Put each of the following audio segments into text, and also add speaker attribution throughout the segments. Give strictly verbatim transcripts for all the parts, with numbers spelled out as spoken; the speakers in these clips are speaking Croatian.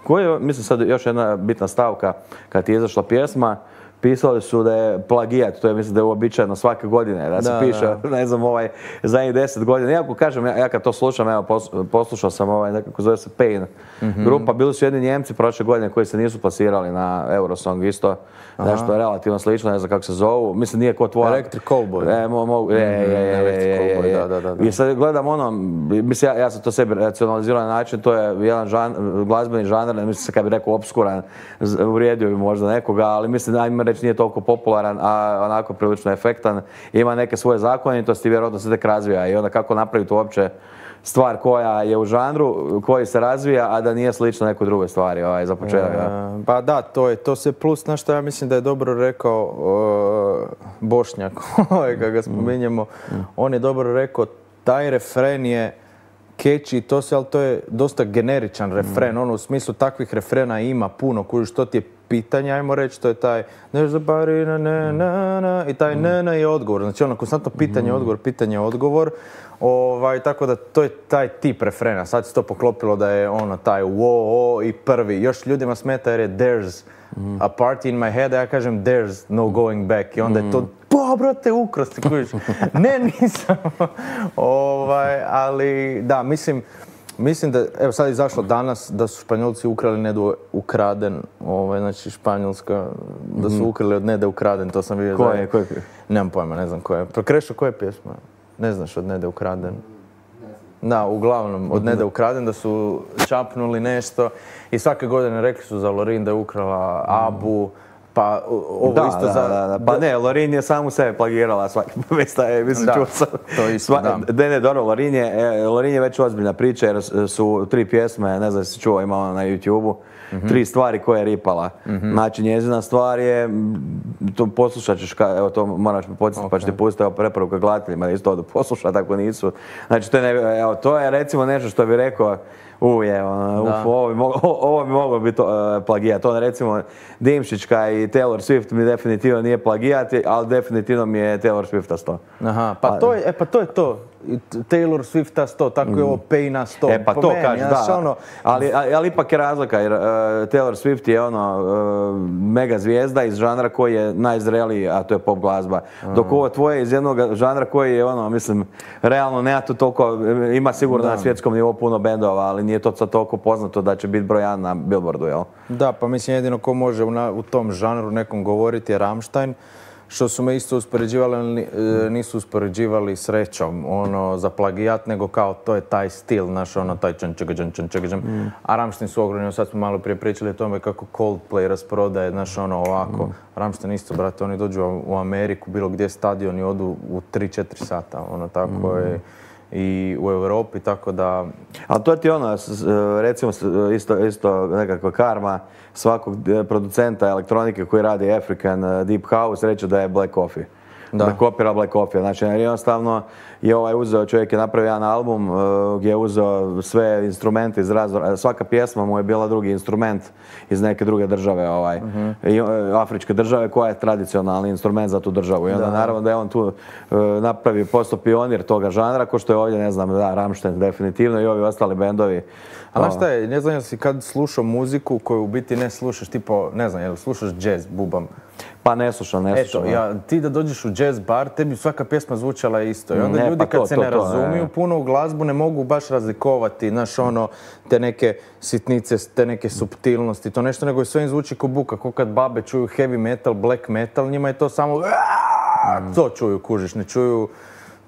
Speaker 1: Koji je, mislim sad još jedna bitna stavka, kad ti je izašla pjesma, pisali su da je plagijat, to je mislim da je uobičajeno svake godine, da se
Speaker 2: Da,
Speaker 1: piše,
Speaker 2: da.
Speaker 1: ne znam, ovaj, zadnjih deset godina. Iako kažem, ja, ja kad to slušam, evo, pos- poslušao sam ovaj, nekako zove se Pain grupa, bili su jedni Njemci prošle godine koji se nisu plasirali na Eurosong isto, nešto je relativno slično, ne znam kako se zovu, mislim nije ko tvoja...
Speaker 2: Electric Cowboy.
Speaker 1: E, mo, mo, je, je, je, je,
Speaker 2: Electric
Speaker 1: je, je,
Speaker 2: Cowboy,
Speaker 1: je.
Speaker 2: da, da, da, da.
Speaker 1: I sad gledam ono, mislim, ja, ja sam to sebi racionalizirao na način, to je jedan žan, glazbeni žanr, ne mislim se kad bi rekao obskuran, z- uvrijedio bi možda nekoga, ali mislim da ajmo reći nije toliko popularan, a onako prilično efektan, ima neke svoje zakonitosti i vjerojatno se tek razvija i onda kako napraviti uopće stvar koja je u žanru, koji se razvija, a da nije slična nekoj drugoj stvari, ovaj, za početak. Da.
Speaker 2: E, Pa da, to je, to se plus, znaš što ja mislim da je dobro rekao uh, Bošnjak, ovaj, kad ga spominjemo, on je dobro rekao, taj refren je catchy, to se, ali to je dosta generičan refren, ono u smislu takvih refrena ima puno, kužiš, što ti je pitanje, ajmo reći, to je taj there's a body, na, na, na, na, i taj na, na je odgovor, znači ono konstantno pitanje, odgovor, pitanje, odgovor, ovaj, tako da to je taj tip refrena, sad se to poklopilo da je ono taj wo i prvi, još ljudima smeta jer je there's a party in my head, a ja kažem there's no going back i onda je to pa brate ukrosti, kužiš, ne nisam, ovaj, ali da, mislim, Mislim da, evo sad je izašlo danas da su Španjolci ukrali Nedu ukraden, ovaj, znači Španjolska, da su ukrali od Nede ukraden, to sam vidio.
Speaker 1: Ko je, ko je?
Speaker 2: Nemam pojma, ne znam ko je. Prekrešao koja je pjesma? Ne znaš od Nede ukraden? Da, uglavnom, od Nede ukraden, da su čapnuli nešto i svake godine rekli su za Lorin da je ukrala Abu, pa ovo
Speaker 1: Da,
Speaker 2: isto
Speaker 1: da,
Speaker 2: za...
Speaker 1: da, da. Pa ne, Lorin je samu sebe plagirala svaki mesta, je, mislim,
Speaker 2: Da,
Speaker 1: čuo sam.
Speaker 2: to isto,
Speaker 1: Sva-
Speaker 2: da.
Speaker 1: Ne, ne, dobro, Lorin je, e, Lorin je već ozbiljna priča jer su tri pjesme, ne znam si čuo, ima ona na YouTube-u, tri stvari koje je ripala. Znači, njezina stvar je, m, to poslušat ćeš, ka, evo to moraš me podsjetiti, pa ću ti pustiti evo, preporuka gledateljima da isto odu poslušat ako nisu. Znači, to je, ne, evo, to je recimo nešto što bi rekao, U, je, ono, uf, ovo bi moglo, ovo bi moglo biti uh, plagijat. On recimo Dimšićka i Taylor Swift mi definitivno nije plagijat, ali definitivno mi je Taylor Swifta sto.
Speaker 2: Aha, pa to je, e pa to je to. I Taylor Swifta sto, tako je ovo Paina sto.
Speaker 1: E pa
Speaker 2: Po
Speaker 1: to
Speaker 2: meni,
Speaker 1: kaže,
Speaker 2: znaš,
Speaker 1: da.
Speaker 2: ono,
Speaker 1: Ali, ali, ali ipak je razlika jer uh, Taylor Swift je ono uh, mega zvijezda iz žanra koji je najzreliji, a to je pop glazba. Dok ovo tvoje iz jednog žanra koji je ono, mislim, realno nema tu toliko, ima sigurno
Speaker 2: Da.
Speaker 1: na svjetskom nivou puno bendova, ali nije to sad toliko poznato da će biti broj jedan na Billboardu, jel?
Speaker 2: Da, pa mislim jedino ko može u, na, u tom žanru nekom govoriti je Rammstein, što su me isto uspoređivali, ali ni- e, nisu uspoređivali srećom, ono, za plagijat, nego kao to je taj stil, znaš, ono, taj čan čega čan čan čega čan. A Rammstein su ogromni, sad smo malo prije pričali o tome kako Coldplay rasprodaje, znaš, ono, ovako. Rammstein isto, brate, oni dođu u- u Ameriku, bilo gdje stadioni odu u tri četiri sata, ono, tako je. I u Europi, tako da...
Speaker 1: Ali to ti ono, s- s- recimo s- isto, isto nekakva karma svakog eh, producenta elektronike koji radi African eh, Deep House, reče da je Black Coffee. Da,
Speaker 2: Da.
Speaker 1: kopira Black Coffee. Znači, jer jednostavno je ovaj uzeo, čovjek je napravio jedan album eh, gdje je uzeo sve instrumente iz razno, svaka pjesma mu je bila drugi instrument iz neke druge države, ovaj, i, eh, afričke države koja je tradicionalni instrument za tu državu. I onda naravno da je on tu eh, napravio, postao pionir toga žanra, ko što je ovdje, ne znam, da, Rammstein definitivno i ovi ostali bendovi.
Speaker 2: A znaš šta je, ne znam jel si kad slušao muziku koju u biti ne slušaš, tipo, ne znam, jel slušaš jazz, bubam?
Speaker 1: Pa ne slušam, ne
Speaker 2: Eto,
Speaker 1: slušam.
Speaker 2: ja, ti da dođeš u jazz bar, tebi svaka pjesma zvučala isto. I onda
Speaker 1: Ne,
Speaker 2: ljudi
Speaker 1: pa
Speaker 2: kad
Speaker 1: to,
Speaker 2: se
Speaker 1: to,
Speaker 2: ne
Speaker 1: to,
Speaker 2: razumiju
Speaker 1: ne.
Speaker 2: puno u glazbu ne mogu baš razlikovati, znaš, ono, te neke sitnice, te neke suptilnosti, to nešto, nego sve im zvuči ko buka, ko kad babe čuju heavy metal, black metal, njima je to samo to čuju, kužiš, ne čuju,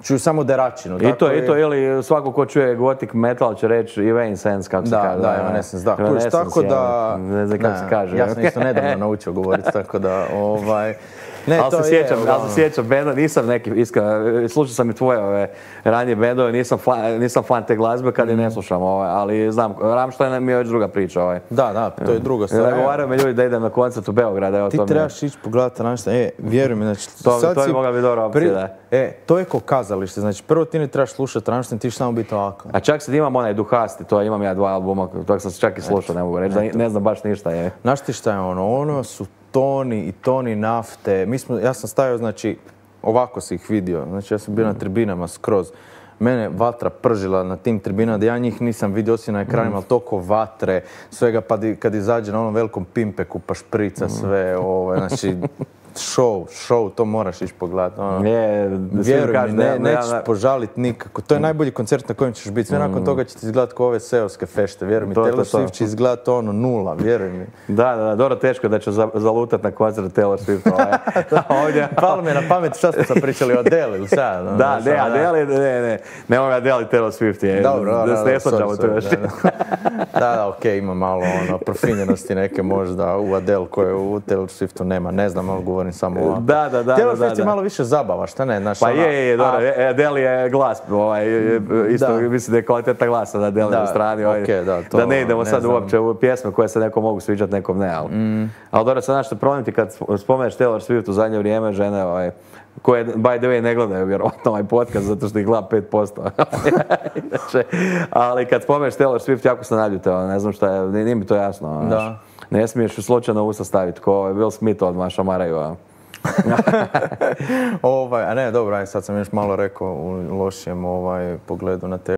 Speaker 2: čuju samo deračinu.
Speaker 1: I to,
Speaker 2: tako
Speaker 1: i to, ili svako ko čuje gothic metal će reći Evanescence, kako se
Speaker 2: Da,
Speaker 1: kaže.
Speaker 2: da, Evanescence, da. Kužiš,
Speaker 1: Evanescence,
Speaker 2: tako da...
Speaker 1: je, Ne znam kako se kaže.
Speaker 2: Ja sam isto nedavno naučio govoriti, tako da, ovaj... Ne,
Speaker 1: ali
Speaker 2: to
Speaker 1: se
Speaker 2: je,
Speaker 1: sjećam, ali
Speaker 2: uglavnom.
Speaker 1: se sjećam benda, nisam neki, iskreno, slušao sam i tvoje ove ranije bendove, nisam fan, nisam fan te glazbe kad je ne slušam, ovaj, ali znam, Rammstein mi je već druga priča. Ovaj.
Speaker 2: Da, da, to je druga stvar.
Speaker 1: Nagovaraju me ljudi da idem na koncert u Beograd, evo
Speaker 2: Ti
Speaker 1: to mi je.
Speaker 2: trebaš ići pogledati Rammstein, e, vjeruj mi, znači...
Speaker 1: To-
Speaker 2: sad
Speaker 1: to bi
Speaker 2: si
Speaker 1: mogla biti dobra opcija,
Speaker 2: pri-
Speaker 1: da.
Speaker 2: E, to je ko kazalište, znači prvo ti ne trebaš slušati Rammstein, ti ćeš samo biti ovako.
Speaker 1: A čak sad imam onaj Duhasti, to imam ja dva albuma, tog sam se čak i slušao, ne mogu reći, da ne znam baš ništa je.
Speaker 2: Znaš ti šta je ono? Ono su toni i toni nafte. Mi smo, ja sam stavio, znači, ovako si ih vidio, znači ja sam bio na tribinama skroz. mene vatra pržila na tim tribinama, da ja njih nisam vidio osim na ekranima, ali toliko vatre, svega, pa di, kad izađe na onom velikom pimpeku pa šprica sve, ovaj, znači, show, show, to moraš ići pogledati. Ono.
Speaker 1: Je,
Speaker 2: vjeruj
Speaker 1: kaži,
Speaker 2: mi, ne,
Speaker 1: ne,
Speaker 2: nećeš
Speaker 1: ne,
Speaker 2: požaliti nikako. To je najbolji koncert na kojem ćeš biti. Sve nakon toga će ti izgledati kao ove seoske fešte, vjeruj mi.
Speaker 1: To, to,
Speaker 2: Taylor
Speaker 1: to.
Speaker 2: Swift će izgledati ono nula, vjeruj mi.
Speaker 1: Da, da, da, dobro, teško je da će za, zalutat na koncert Taylor Swift. Ovaj. Ovdje.
Speaker 2: Palo mi je na pamet šta smo sad pričali o Adele ili sad. No,
Speaker 1: Da, ne, Adele, ne, ne, ne mogu Adele i Taylor Swift je.
Speaker 2: Dobro, da, da,
Speaker 1: ne
Speaker 2: da,
Speaker 1: svađamo
Speaker 2: sorry,
Speaker 1: to još.
Speaker 2: sorry, da, da. Da, da, okej, ima malo ono, profinjenosti neke možda u Adele koje u Taylor Swiftu nema, ne znam, ali govorim samo ovako.
Speaker 1: Da, da, da.
Speaker 2: Taylor
Speaker 1: da,
Speaker 2: Swift
Speaker 1: da.
Speaker 2: je malo više zabava, šta ne, znaš,
Speaker 1: Pa
Speaker 2: ona-
Speaker 1: je, je, je, dobro,
Speaker 2: a,
Speaker 1: Adele je glas, ovaj, isto
Speaker 2: Da.
Speaker 1: mislim da je kvaliteta glasa na Adele
Speaker 2: Da,
Speaker 1: na strani. Ovaj,
Speaker 2: okej, da, to
Speaker 1: da ne idemo
Speaker 2: ne
Speaker 1: sad
Speaker 2: znam.
Speaker 1: uopće u pjesme koje se nekom mogu sviđati, nekom ne, ali.
Speaker 2: Mm.
Speaker 1: Ali dobro, sad nešto problem ti kad spomeneš Taylor Swift u zadnje vrijeme, žene, ovaj, koje, by the way, ne gledaju vjerovatno ovaj podcast zato što ih gleda pet posto. Inače, ali kad spomeneš Taylor Swift, jako se naljutila, ne znam šta je, nije mi to jasno. Znaš.
Speaker 2: Da.
Speaker 1: Ne smiješ ju slučajno u usta staviti, ko ovaj Will Smith odmah šamaraju. A.
Speaker 2: ovaj, a ne, dobro, aj, sad sam još malo rekao u lošijem ovaj, pogledu na te